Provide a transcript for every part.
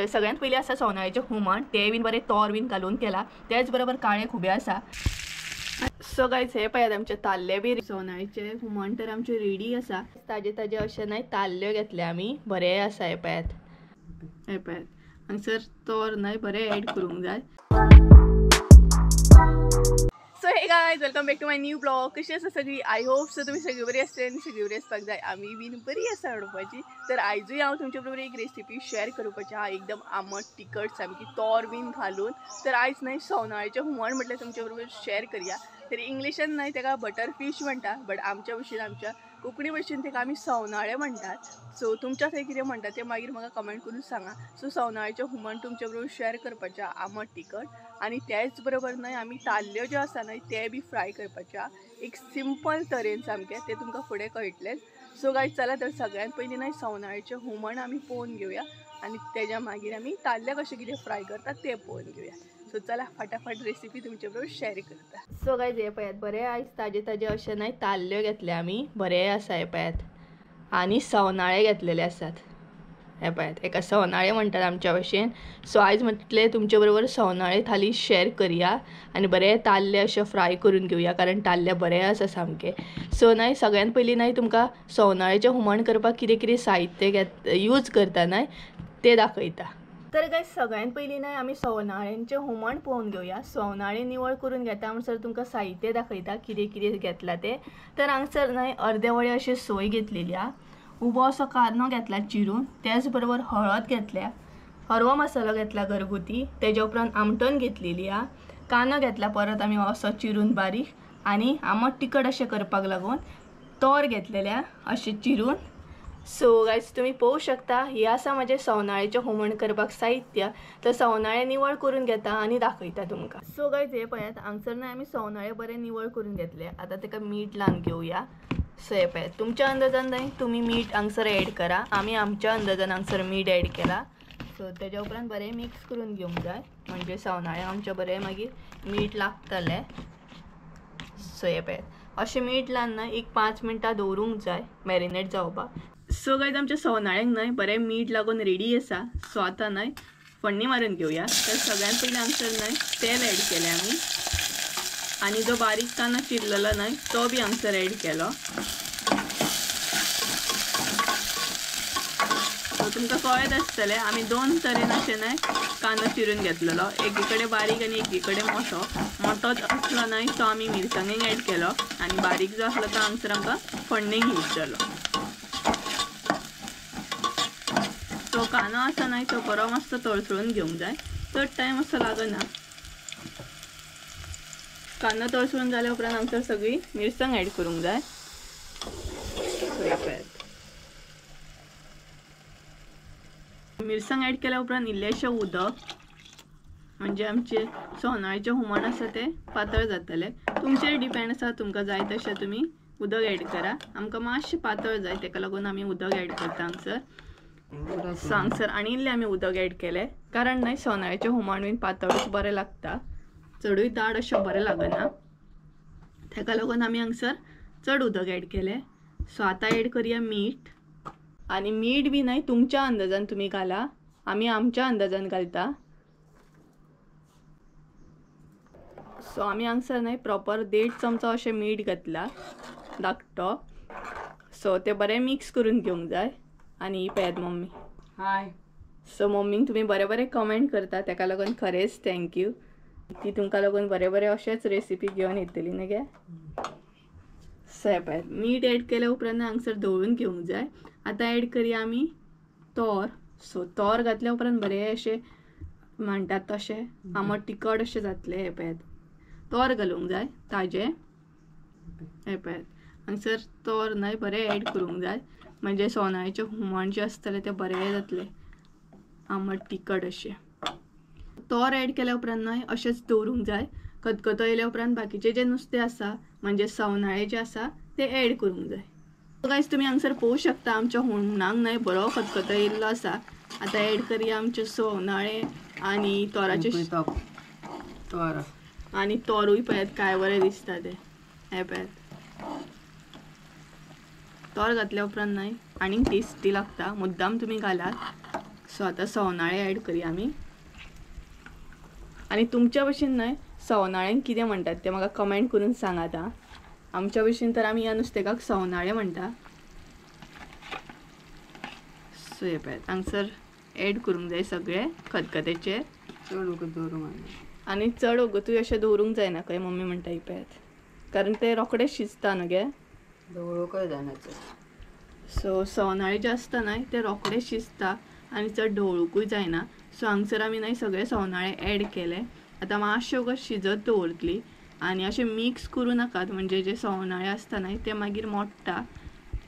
सगळ्यांत पयलीं आसा सोनाळ्याचें हुमण, तें बीन बरें तोर बीन घालून केला. त्याच बरोबर काळे खुबे आसा. सो गायज हे पळयात आमचे ताल्ले बी सोनाळ्याचे हुमण तर आमचे रेडी आसा. ताजे ताजे अशें न्हय ताल्ल्यो घेतले आमी, बरें आसा. हे पळयात, हे पळयात हांगसर तोर न्हय बरें एड करूंक जाय. So hey guys, welcome back to my new blog. कशी आसा सगळी? I hope so तुमी सगळी बरी आसतली आनी सगळी बरी आसपाक जाय. आमी बीन बरी आसा म्हणपाची. तर आयजूय हांव तुमचे बरोबर एक रेसिपी शेअर करपाची आहा, एकदम आमट तिखट सामकी तोर बीन घालून. तर आयज न्हय सोनाळ्याचें हुमण म्हटल्यार तुमचे बरोबर शेअर करया. तर इंग्लिशान न्हय ताका बटर फीश म्हणटा, बट आमच्या भशेन आमच्या कोंकणी भशेन ताका आमी सवनाळे म्हणटात. सो तुमच्या थंय कितें म्हणटा तें मागीर म्हाका कमेंट करून सांगा. सो सवनाळ्याचें हुमण तुमचे बरोबर शेअर करपाचें आमट तिखट. आनी त्याच बरोबर न्हय आमी ताल्ल्यो ज्यो आसा न्हय ते बी फ्राय करपाचे एक सिंपल तरेन सामकें, तें तुमकां फुडें कळटलें. सो गायज चला तर सगळ्यांत पयलीं न्हय सवनाळ्याचें हुमण आमी पळोवन घेवया आनी तेज्या मागीर आमी ताल्ले कशें कितें फ्राय करतात तें पळोवन घेवया. सो चला फटाफट रेसिपी तुमचे बरोबर शेअर करता. सो गायज हे पळयात बरें आयज ताजे ताजे अशें न्हय ताल्ल्यो घेतले आमी, बरें आसा. हे पळयात आनी सवनाळे घेतलेले आसात. हे पळयात एका सवनाळे म्हणटात आमच्या भशेन. सो आयज म्हटलें तुमचे बरोबर सवनाळे थाली शेअर करया आनी बरें ताल्ले अशें फ्राय करून घेवया, कारण ताल्ले बरें आसा सामकें. सो न्हय सगळ्यांत पयलीं न्हय तुमकां सवनाळ्याचें हुमण करपाक कितें कितें साहित्य घेत यूज करता न्हय तें दाखयता. तर गायज सगळ्यांत पयलीं न्हय आमी सवनाळ्यांचें हुमण पळोवन घेवया. सवनाळे निवळ करून घेता म्हणसर तुमकां साहित्य दाखयता कितें कितें घेतलां तें. तर हांगसर न्हय अर्दे वडे अशें सोय घेतलेली आहा, उबो असो कांदो घेतला चिरून, त्याच बरोबर हळद घेतल्या, हरवो मसालो घेतला घरगुती, तेज्या उपरांत आमटण घेतलेली आहा, कांदो घेतला परत आमी असो चिरून बारीक, आनी आमट तिखट अशें करपाक लागून तोर घेतलेल्या अशें चिरून. सो गायज तुमी पळोवंक शकता हे आसा म्हाजें सवनाळ्याचें हुमण करपाक साहित्य. तर सवनाळे निवळ करून घेता आनी दाखयता तुमकां. सो गायज हे पळयात हांगसर न्हय आमी सवनाळे बरें निवळ करून घेतले. आतां ताका मीठ लावन घेवया. सो हे पळयात तुमच्या अंदाजान न्हय तुमी मीठ हांगसर एड करा, आमी आमच्या अंदाजान हांगसर मीठ एड केला. सो तेज्या उपरांत बरें मिक्स करून घेवंक जाय, म्हणजे सवनाळे आमच्या बरें मागीर मीठ लागतलें. सो हे पळयात अशें मीठ लावन न्हय एक 5 मिनटां दवरूंक जाय मॅरिनेट जावपाक. सो गायज आमच्या सवनाळ्यांक न्हय बरें मीठ लागून रेडी आसा. सो आतां न्हय फोडणी मारून घेवया. तर सगळ्यांत पयलीं हांगसर न्हय तेल एड केलें आमी, आनी जो बारीक कांदो चिरलेलो न्हय तो बी हांगसर एड केलो. सो तुमकां कळत आसतलें आमी 2 तरेन अशें न्हय कांदो चिरून घेतलेलो, एकी कडेन बारीक आनी एकी कडेन मोटो. मोटो आसलो न्हय तो आमी मिरसांगेक एड केलो आनी बारीक जो आसलो तो हांगसर आमकां फोडणेक यूज जालो. सो कांदो आसा न्हय तो बरो मातसो तळसळून घेवंक जाय, चड टायम असो लागना. कांदो तळसळून जाल्या उपरांत हांगसर सगळी मिरसांग एड करूंक जाय. मिरसांग एड केल्या उपरांत इल्लेशें उदक, म्हणजे आमचें सोनाळ्याचें हुमण आसा तें पातळ जातलें. तुमचेर डिपेंड आसा, तुमकां जाय तशें तुमी उदक एड करा. आमकां मातशें पातळ जाय ताका लागून आमी उदक एड करता हांगसर. सो हांगसर आनी इल्लें आमी उदक एड केलें, कारण न्हय सोनाळ्याचें हुमण बीन पातळूच बरें लागता, चडूय दाट अशें बरें लागना, ताका लागून आमी हांगसर चड उदक एड केलें. सो आतां एड करया मीठ, आनी मीठ बी न्हय तुमच्या अंदाजान तुमी घाला, आमी आमच्या अंदाजान घालता. सो आमी हांगसर न्हय प्रॉपर 1.5 चमचो अशें मीठ घातला धाकटो. सो तें बरें मिक्स करून घेवंक जाय. आनी पळयात मम्मी, हाय. सो मम्मीक तुमी बरें बरें कमेंट करता, ताका लागून खरेंच thank you. ती तुमकां लागून बरें बरें अशेंच रेसिपी घेवन येतली न्ही गे. सो हे पळयात मीठ एड केल्या उपरांत हांगसर धवळून घेवंक जाय. आतां एड करया आमी तोर. सो तोर घातल्या उपरांत बरें अशें म्हणटात तशें आमट तिखट अशें जातलें. हे पळयात तोर घालूंक जाय ताजें. हे पळयात हांगसर तोर न्हय बरें एड करूंक जाय, म्हणजे सोनाळ्याचें हुमण जें आसतलें तें बरें जातलें आमट तिखट अशें. तोर एड केल्या उपरांत न्हय अशेंच दवरूंक जाय. खतखतो येयल्या उपरांत बाकीचें जें नुस्तें आसा म्हणजे सवनाळे जें आसा तें एड करूंक जाय. गायज तुमी हांगसर पळोवंक शकता आमच्या हुमणाक न्हय बरो खतखतो येयल्लो आसा. आतां एड करया आमचे सवनाळे आनी तोराचे तोर, आनी तोरूय पळयात काय बरें दिसता तें. हे पळयात तोर घातल्या उपरांत न्हय आनीक टेस्टी लागता, मुद्दाम तुमी घालात. सो आतां सवनाळे ॲड करया आमी. आनी तुमच्या भशेन न्हय सवनाळ्यांक कितें म्हणटात तें म्हाका कमेंट करून सांगात आं. आमच्या भशेन तर आमी ह्या नुस्तेकाक सवनाळे म्हणटा. सो हे पळयात हांगसर ॲड करूंक जाय सगळे खतखत्याचे. चड वगत दवरूंक जायना आनी चड वगतूय अशें दवरूंक जायना खंय मम्मी म्हणटा ही पळयात, कारण ते रोखडे शिजता न्हू गे. दवरूंकय जायना चड. सो सवनाळे जे आसता न्हय ते रोखडे शिजता आनी चड ढवळुकूय जायना. सो हांगसर आमी न्हय सगळे सवनाळे ॲड केले. आतां मातशे वगत शिजत दवरतली आनी अशें मिक्स करूं नाकात, म्हणजे जे सवनाळे आसता न्हय ते मागीर मोडटा.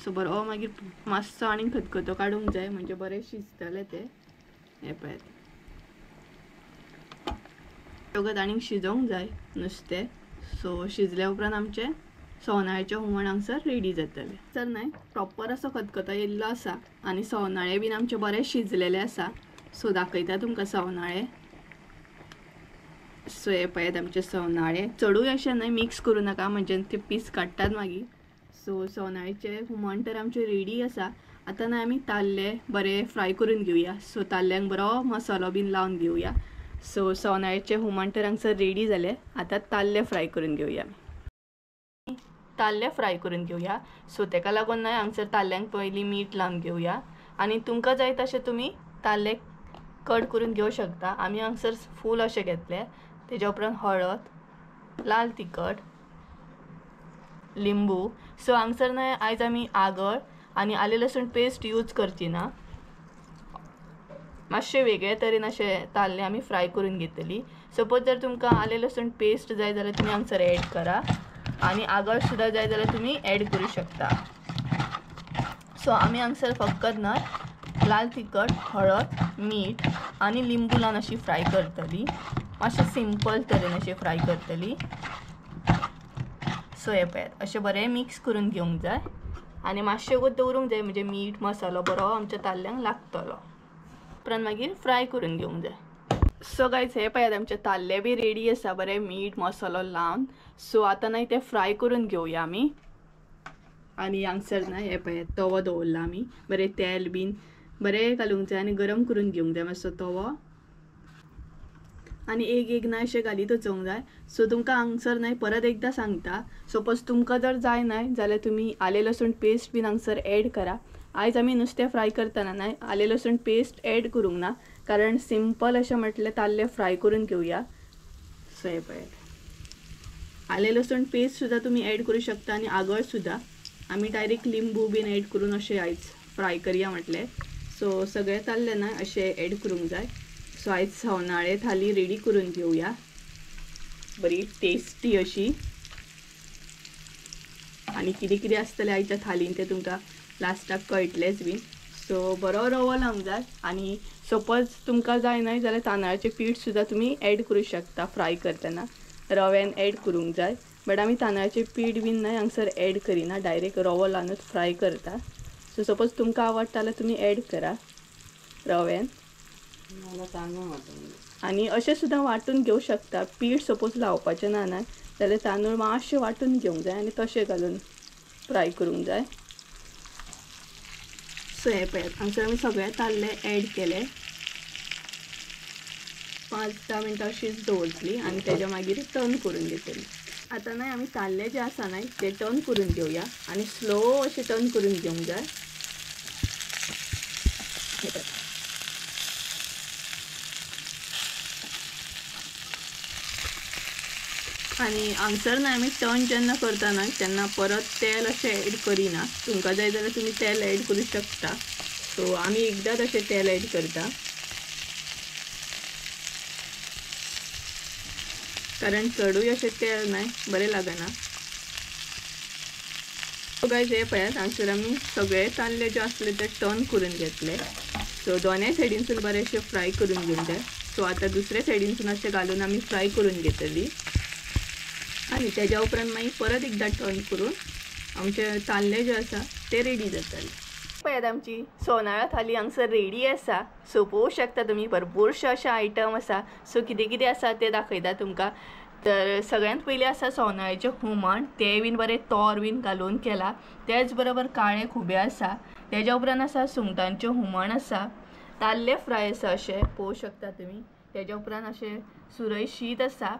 सो बरो मागीर मातसो आनी खतखतो काडूंक जाय, म्हणजे बरें शिजतले ते. हें पळयात वगत आनीक शिजोवंक जाय नुस्तें. सो शिजल्या उपरांत आमचें सवनाळ्याचें हुमण हांगसर रेडी जातलें. तर न्हय प्रॉपर असो खतखतो येयल्लो आसा आनी सवनाळे बीन आमचे बरे शिजलेले आसा. सो दाखयता तुमकां सवनाळे. सो हे पळयात आमचे सवनाळे. चडूय अशें न्हय मिक्स करूं नाका, म्हणजे ते पीस काडटात मागीर. सो सवनाळ्याचें हुमण तर आमचें रेडी आसा. आतां न्हय आमी ताल्ले बरे फ्राय करून घेवया. सो ताल्ल्यांक बरो मसालो बीन लावन घेवया. सो सवनाळ्याचें हुमण तर हांगसर रेडी जालें. आतां ताल्ले फ्राय करून घेवया. ताल्ले फ्राय करून घेवया. सो तेका लागून न्हय हांगसर ताल्ल्यांक पयलीं मीठ लावन घेवया. आनी तुमकां जाय तशें तुमी ताल्ले कट करून घेवं शकता. आमी हांगसर फूल अशें घेतले. तेज्या उपरांत हळद, लाल तिखट, लिंबू. सो हांगसर न्हय आयज आमी आगळ आनी आलें लसूण पेस्ट यूज करची ना, मातशें वेगळे तरेन अशें ताल्ले आमी फ्राय करून घेतली. सपोज जर तुमकां आलें लसूण पेस्ट जाय जाल्यार तुमी हांगसर ॲड करा आनी आगळ सुद्दां जाय जाल्यार तुमी ॲड करूं शकता. सो आमी हांगसर फकत न्हय लाल तिखट, हळद, मीठ आनी लिंबू लावन अशी फ्राय करतली. मातशें सिंपल तरेन अशें फ्राय करतली. सो हे पळयात अशें बरें मिक्स करून घेवंक जाय आनी मातशें वगत दवरूंक जाय, म्हणजे मीठ मसालो बरो आमच्या ताल्ल्यांक लागतलो. उपरांत मागीर फ्राय करून घेवंक जाय. सो गायज हे पळयात आमचे ताल्ले बी रेडी आसा बरें मीठ मसालो लावन. सो आतां न्हय ते फ्राय करून घेवया आमी. आनी हांगसर न्हय हे पळयात तवो दवरला आमी, बरें तेल बीन बरें घालूंक जाय आनी गरम करून घेवंक जाय मातसो तवो. आनी एक एक न्हय अशें घालीत वचोंक जाय. सो तुमकां हांगसर न्हय परत एकदां सांगता, सपोज तुमकां जर जाय न्हय जाल्यार तुमी आलें लसूण पेस्ट बीन हांगसर ॲड करा. आयज आमी नुस्तें फ्राय करतना न्हय आलें लसूण पेस्ट ॲड करूंक ना, कारण सिंपल अशें म्हटलें ताल्ले फ्राय करून घेवया. सो हे पळयात आलें लसूण पेस्ट सुद्दां तुमी ॲड करूं शकता आनी आगळ सुद्दां. आमी डायरेक्ट लिंबू बीन ॲड करून अशें आयज फ्राय करया म्हटलें. सो सगळे ताल्ले न्हय अशें ॲड करूंक जाय. सो आयज सवनाळे थाली रेडी करून घेवया, बरी टेस्टी अशी. आनी कितें कितें आसतलें आयच्या थालीन तें तुमकां लास्टाक कळटलेंच बीन. सो बरो रवो लावंक जाय आनी सपोज तुमकां जाय न्हय जाल्यार तांदळाचें पीठ सुद्दां तुमी ॲड करूं शकता फ्राय करतना, रव्यान ॲड करूंक जाय. बट आमी तांदळाचें पीठ बीन न्हय हांगसर ॲड करिना, डायरेक्ट रवो लावनूच फ्राय करता. सो सपोज तुमकां आवडटा जाल्यार तुमी ॲड करा रव्यान. आनी अशें सुद्दां वांटून घेवं शकता. पीठ सपोज लावपाचें ना न्हय जाल्यार तांदूळ मातशें वांटून घेवंक जाय आनी तशें घालून फ्राय करूंक जाय. सो हे पळयात हांगसर आमी सगळे ताल्ले ॲड केले. 5-10 मिनटां अशीच दवरतली आनी तेज्या मागीर टर्न करून घेतली. आतां न्हय आमी ताल्ले जे आसा न्हय ते टर्न करून घेवया आनी स्लो अशें टर्न करून घेवंक जाय. आनी हांगसर न्हय आमी टर्न जेन्ना करता न्हय तेन्ना परत तेल अशें ॲड करिना. तुमकां जाय जाल्यार तुमी तेल ॲड करूं शकता. सो आमी एकदांच अशें तेल ॲड करता, कारण चडूय अशें तेल न्हय बरें लागना. सो गायज हे पळयात हांगसर आमी सगळे ताल्ले जे आसले ते टर्न करून घेतले. सो दोनूय सायडीनसून बरें अशें फ्राय करून घेवंक जाय. सो आतां दुसऱ्या सायडीनसून अशें घालून आमी फ्राय करून घेतली आनी तेज्या उपरांत मागीर परत एकदां टर्न करून आमचे ताल्ले जे आसा ते रेडी जातले. पळयात आमची सोनाळा थाली हांगसर रेडी आसा. सो पळोवंक शकता तुमी भरपूरशे अशे आयटम आसा. सो कितें कितें आसा तें दाखयता तुमकां. तर सगळ्यांत पयलीं आसा सोनाळ्याचें हुमण, तें बीन बरें तोर बीन घालून केलां. तेच बरोबर काळे खुबे आसा. तेज्या उपरांत आसा सुंगटांचें हुमण आसा. ताल्ले फ्राय आसा अशें पळोवंक शकता तुमी. तेज्या उपरांत अशें सुरय शीत आसा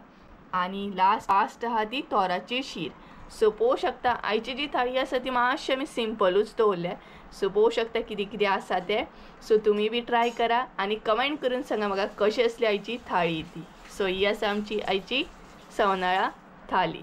आनी लास्ट आहा ती तोराची शीर. सो पळोवंक शकता आयची जी थाळी आसा ती मातशी आमी सिंपलूच दवरल्या. सो पळोवंक शकता कितें कितें आसा तें. सो तुमी बी ट्राय करा आनी कमेंट करून सांगा म्हाका कशी आसली आयची थाळी ती. सो ही आसा आमची आयची सवनाळा थाली.